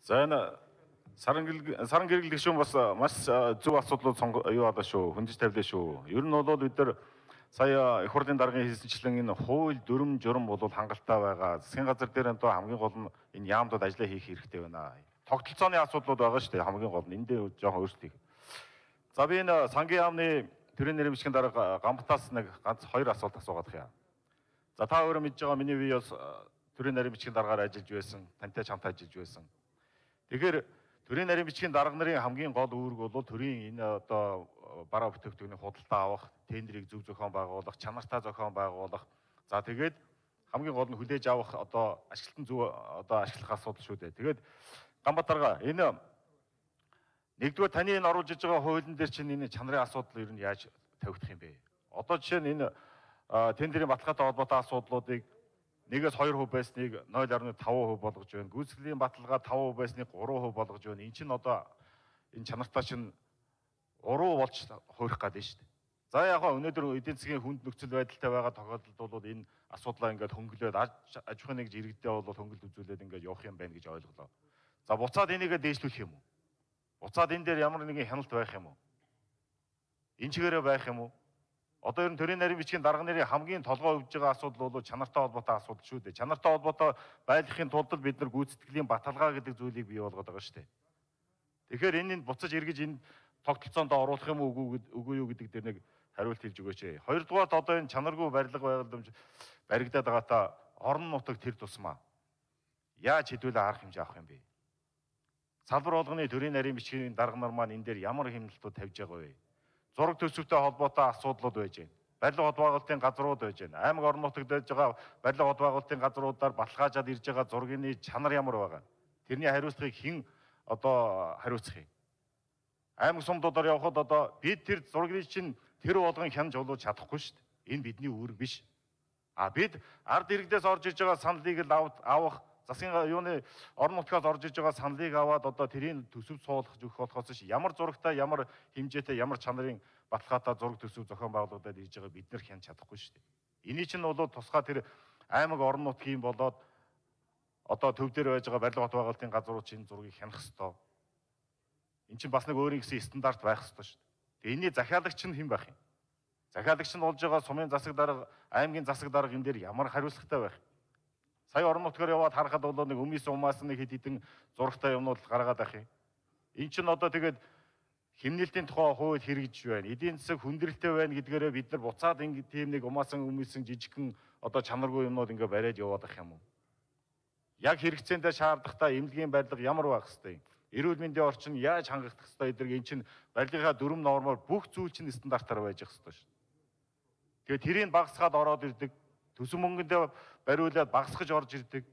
За энэ саран гэрэл гишүүн бас маш зөв асуудлууд юу адаа шүү. Хөндөж тавилаа шүү. Ер нь бол бид нар сая их хурлын даргын хэлсэнчлэн энэ хууль дүрм журм бол хангалттай байгаа. Засгийн газар дээр энэ хамгийн гол нь энэ яамдууд ажиллаа хийх хэрэгтэй байна. Тогтолцооны асуудлууд байгаа шүү дээ. Хамгийн гол нь энэ дээр жоохон өөрчлөлт. За би энэ сангийн яамны төрийн нэрийн бичгийн дарга Гамбатаас нэг ганц хоёр асуулт асуугаад байна. За та өөрөө мэдж байгаа миний бие бас төрийн нэрийн бичгийн даргаар ажиллаж байсан, тантай чамтай ажиллаж байсан. Тэгэхээр төрийн нарийн бичгийн дарга нарын хамгийн гол үүрэг бол төрийн энэ одоо бараа бүтээгдэхүүний худалдаа авах, тендерийг зөв зохион байгуулах, чанартай зохион байгуулах. За тэгээд хамгийн гол нь хүлээж авах одоо ашиглалтын зөв одоо ашиглах асуудал шүү дээ. Тэгээд Гамбат дарга энэ нэгдүгээр таны энэ оруулж иж байгаа хуулийн дээр чинь энэ чанарын асуудал ер нь яаж тавигдах юм бэ? Одоо жишээ нь энэ тендерийн баталгаатай холбоотой асуудлуудыг 1-2% байсныг 0.5% болгож байна. Гүйцэтгэлийн баталгаа 5% байсныг 3% болгож байна. Энд чинь одоо энэ чанартай чинь уруу болж хуурах гэдэг нь шүү дээ. За яг хаа өнөөдөр эдийн засгийн хүнд нөхцөл байдалтай байгаа тохиолдолд бол энэ асуудлаа ингээд хөнгөлөөд аж ахуйн нэгж иргэдээ бол хөнгөлт үзүүлээд ингээд явах юм байна гэж ойлголоо. За буцаад энийгээ дээшлүүлэх юм уу? Буцаад энэ дээр ямар нэгэн хяналт байх юм уу? Энэ чигээрээ байх юм уу? Одоо ер нь төрийн нарийн бичгийн дарга нарын хамгийн толгой өвж байгаа асуудал бол чанартай холбоотой асуудал шүү дээ. Чанартай холбоотой байдлахын тулд бид нар гүйцэтгэлийн баталгаа гэдэг зүйлийг бий болгоод байгаа шүү дээ. Тэгэхээр энэ буцаж эргэж энэ тогтолцоонд оруулах юм үгүй юу гэдэг дээр нэг хариулт хэлж өгөөч. Хоёрдугаарт одоо энэ чанаргүй барилга байгууламж баригдаад байгаатаа орон нутаг тэр тусмаа яаж хэдүүлээ арга хэмжээ авах юм бэ? Салбар болгоны төрийн нарийн бичгийн дарга нар маань энэ дээр ямар хэмнэлтүүд тавьж байгаа вэ? Зураг төсөвтэй холбоотой асуудлууд байж байна. Барилга хот байгуулалтын газрууд байж байна. Аймаг орон нутагт байж байгаа барилга хот байгуулалтын газруудаар баталгаажаад ирж байгаа зургийн чанар ямар байгаа. Тэрний хариуцлагыг хэн одоо хариуцах юм? Аймаг сумдуудаар явхад одоо бид тэр зургийг чинь тэр болгон хянаж олуулж чадахгүй шүү дээ. Энэ бидний үүрэг биш. Бид ард иргэдээс орж иж байгаа саналыг л авах засгийн юуны орон нутгаас орж иж байгаа саналыг аваад одоо тэрийн төсөв суулгах өгөх болохоос ш ямар зурагтай, ямар хэмжээтэй, ямар чанарын баталгаатай зураг төсөв зохион байгуулагдаад ирж байгаа бид нар хянаж чадахгүй шүү дээ. Эний чинь бол тусгай тэр аймаг орон нутгийн болоод одоо төв дээр байж байгаа барилга хот байгуулалтын газрууд чинь зургийг хянах ёстой. Энд чинь бас нэг өөрийн гэсэн стандарт байх ёстой шүү дээ. Тэгээ энэний захиалагч нь хэн байх юм? Захиалагч нь болж байгаа сумын засаг дарга, аймгийн засаг дарга энэ дээр ямар хариуцлагатай байх? Сая орон нутгаар яваад харахад бол нэг өмнөөс умаас нэг хэд хэдэн зурагтай юмнууд гаргаад байх юм. Энд чинь одоо тэгээд хэмнэлтийн тухай хууль хэрэгжиж байна. Эдийн засаг хүндрэлтэй байна гэдгээрээ бид нар буцаад ингэ тийм нэг умаасан өмнөсөн жижигхэн одоо чанаргүй юмнууд ингээ бариад яваад ах юм уу? Яг хэрэгцээндээ шаардлагатай эмнэлгийн барилга ямар байх хэвтэй? Эрүүл мэндийн орчин яаж хангагдах хэвтэй эдгээр эн чинь барилгынхаа дүрм нормоор бүх зүйл чинь стандартаар байж ах хэвтэй шүү. Тэгээд тэрийг багасгаад ороод ирдэг. Төсөв мөнгөндөө бариулаад багасгаж орж ирдэг.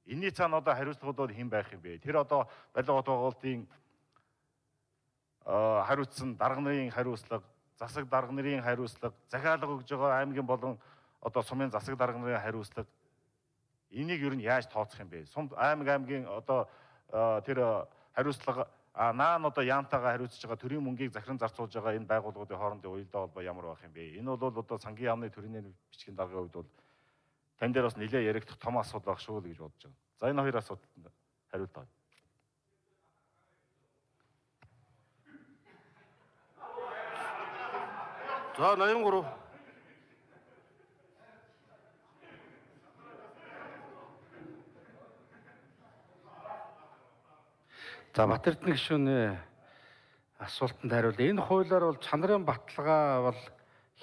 Энийний цаана одоо хариуцлагууд хэн байх юм бэ? Тэр одоо барилга хот байгуулалтын хариуцсан дарга нарын хариуцлага, засаг дарга нарын хариуцлага, захиалга өгж байгаа аймгийн болон одоо сумын засаг дарга нарын хариуцлага. Энийг ер нь яаж тооцох юм бэ? Сум аймгийн одоо тэр хариуцлага наан одоо яамтайгаа хариуцж байгаа төрийн мөнгийг захиран зарцуулж байгаа энэ байгууллагуудын хоорондын уялдаа холбоо ямар байх юм бэ? Энэ бол одоо сангийн яамны төрийн бичгийн даргын хувьд бол тань дээр бас нэлээд яригдах том асуудал байх шүү л гэж бодож байна. За энэ хоёр асуудалд хариулт авъя. За 83. За Батэрдны гишүүний асуултанд хариул. Энэ хуулиар бол чанарын баталгаа бол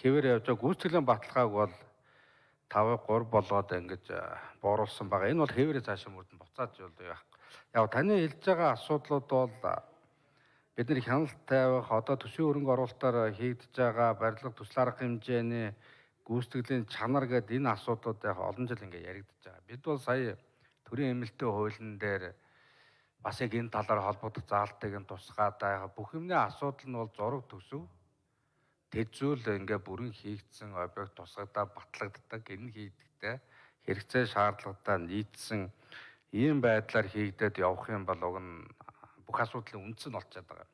хэвээр явж байгаа. Гүйцэтгэлийн баталгааг бол 5-3 болгоод ингэж бууруулсан байгаа. Энэ бол хэвээрээ цаашаа мөрдөнд буцаад явах. Яг таны хэлж байгаа асуудлууд бол бид нар хяналт тавих, одоо төсвийн хөрөнгө оруулалтаар хийгдэж байгаа барилга төсөл арга хэмжээний гүйцэтгэлийн чанар гэдэг энэ асуудлууд яг олон жил ингэ яригдж байгаа. Бид бол сая төрийн эмнэлтийн хуулийн дээр бас яг энэ талаар холбогдох заалтыг нь тусгаад байгаа. Бүх юмны асуудал нь бол зураг төсөв тэжүүл ингээ бүрэн хийгдсэн объект тусгадаа батлагддаг. Энэ хийгдэхдээ хэрэгцээ шаардлагатай нийцсэн ийм байдлаар хийгдээд явах юм бол уг нь бүх асуудлын үндэс нь олцоод байгаа.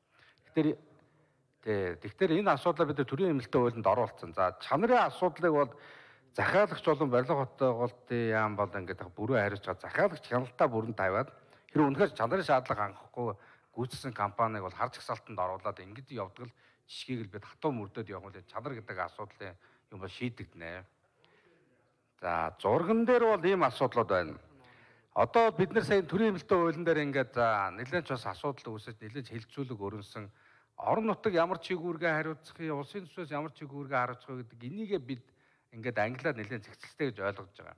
Тэгэхээр энэ асуудлаа бид төрийн эмнэлтийн хуулинд оруулсан. За чанарын асуудлыг бол захиалагч болон барилга хот байгуулалтын яам бол ингээд бүрэн хариуцж байгаа. Захиалагч хяналтаа бүрэн тавиад Хэрэв үнэхээр чанарын шаардлага хангахгүй гүйцэтгэсэн компанийг бол харж ихсалтанд оруулаад ингэж явдаг л жишгийг л бид хатуу мөрдөд явах үл чанар гэдэг асуудлын юм бол шийдэгдэнэ. За зурган дээр бол ийм асуудлууд байна. Одоо бид нар сая төрийн хэмнэлтийн хуулийн дээр ингээд нэлээд ч бас асуудал үүсэж нэлээд хэлцүүлэг өрнсөн орон нутаг ямар чигүүргээ хариуцах юм, улсын төсвөөс ямар чигүүргээ хариуцах вэ гэдэг энийгээ бид ингээд англиар нэлээд зэгцэлтэй гэж ойлгож байгаа.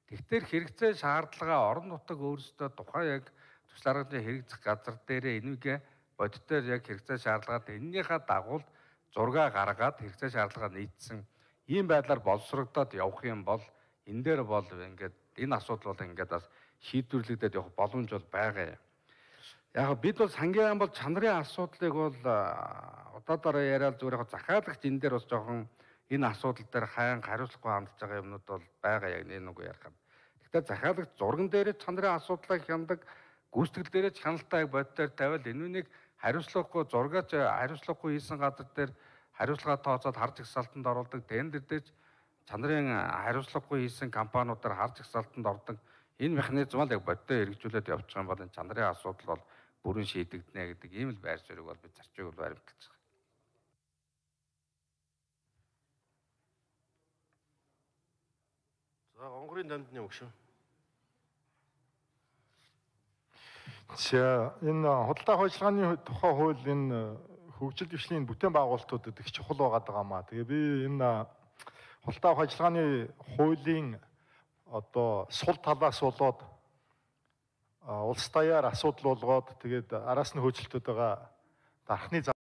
Тэгэхээр хэрэгцээ шаардлагаа орон нутаг өөрсдөө тухайн яг төсөл арганы хэрэгжих газар дээрээ энийгээ бодитоор яг хэрэгцээ шаардлагаад эннийхээ дагуу зураг гаргаад хэрэгцээ шаардлагаа нийцсэн ийм байдлаар боловсрогдоод явах юм бол энэ дээр бол ингээд энэ асуудал бол ингээд бас шийдвэрлэгдээд явах боломж бол байгаа юм. Яг бид бол сангийн бол чанарын асуудлыг бол удаадараа яриад зүгээр яг захиалагч энэ дээр бас жоохон энэ асуудал дээр хайн хариуцлагагүй хандж байгаа юмнууд бол байгаа яг нэг ярих. Гэхдээ захиалагч зурган дээр чанарын асуудлыг хяндаг, гүйцэтгэл дээр чаналтай бодитоор тавиал энүүнийг хариуцлагагүй зургаач хариуцлагагүй хийсэн газар дээр хариуцлага тооцоод харж ихсалтанд оруулдаг, тендер дээр чанарын хариуцлагагүй хийсэн компаниудаар харж ихсалтанд ордог. Энэ механизм л яг бодитоор хэрэгжүүлээд явж байгаа юм бол энэ чанарын асуудал бол бүрэн шийдэгдэнэ гэдэг ийм л байр суурийг бол бид зарчиг бол баримталж байгаа. За онгорын дамжны өгшөө. За энэ худалдаа ажиллагааны тухай хууль энэ хөгжил дэвшлийн бүтээн байгуулалтуудад их чухал байгаа маа. Тэгээ би энэ худалдаа ажиллагааны хуулийн одоо сул талаас болоод улс даяар асуудал болгоод тэгээд араас нь хөөцөлтөд байгаа дархны